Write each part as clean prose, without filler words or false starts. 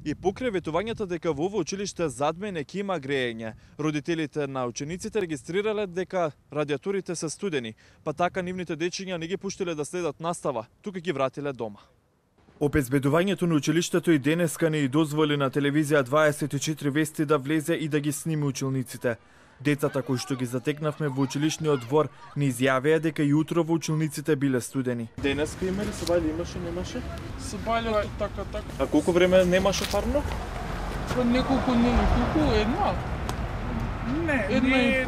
И покрај ветувањето дека во ово училиште задмене ќе има грејење, родителите на учениците регистрирале дека радиаторите се студени, па така нивните дечиња не ги пуштиле да следат настава, тука ги вратиле дома. Обезбедувањето на училиштето и денеска не и дозволи на телевизија 24 вести да влезе и да ги сними училниците. Децата кои што ги затекнавме во училишниот двор не изјавија дека и утро во училниците биле студени. Денеска има ли се имаше, немаше? Се бајле така. А колку време немаше парно? Неколку една. Не.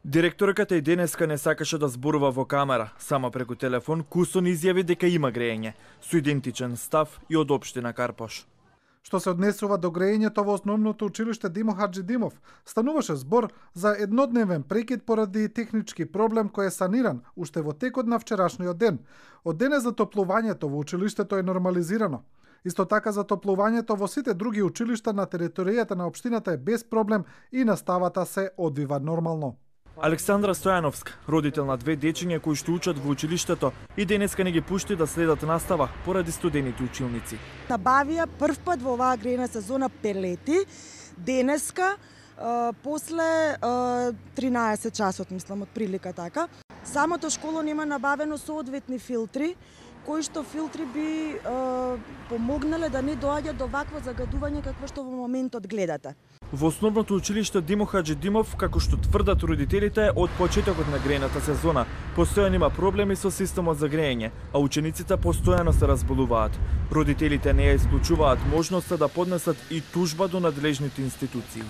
Директорката и денеска не сакаше да зборува во камера, само преку телефон кусон изјави дека има грејење, со идентичен став и од општина Карпош. Што се однесува до грејењето во основното училиште Димо Хаджидимов, стануваше збор за еднодневен прекид поради технички проблем кој е саниран уште во текот на вчерашниот ден. Од денес затоплувањето во училиштето е нормализирано. Исто така затоплувањето во сите други училишта на територијата на општината е без проблем и наставата се одвива нормално. Александра Стојановска, родител на две дечиња кои што учат во училиштето, и денеска не ги пушти да следат настава поради студените училници. Набавија прв пат во оваа грејна сезона пелети, денеска после 13 часот, мислам, од прилика така. Самото школо нема набавено соодветни филтри, кои што филтри би помогнале да не доаѓа до вакво загадување какво што во моментот гледате. Во основното училиште Димо Хаджидимов, како што тврдат родителите, од почетокот на грејната сезона постојано има проблеми со системот за грејење, а учениците постојано се разболуваат. Родителите не ја исклучуваат можноста да поднесат и тужба до надлежните институции.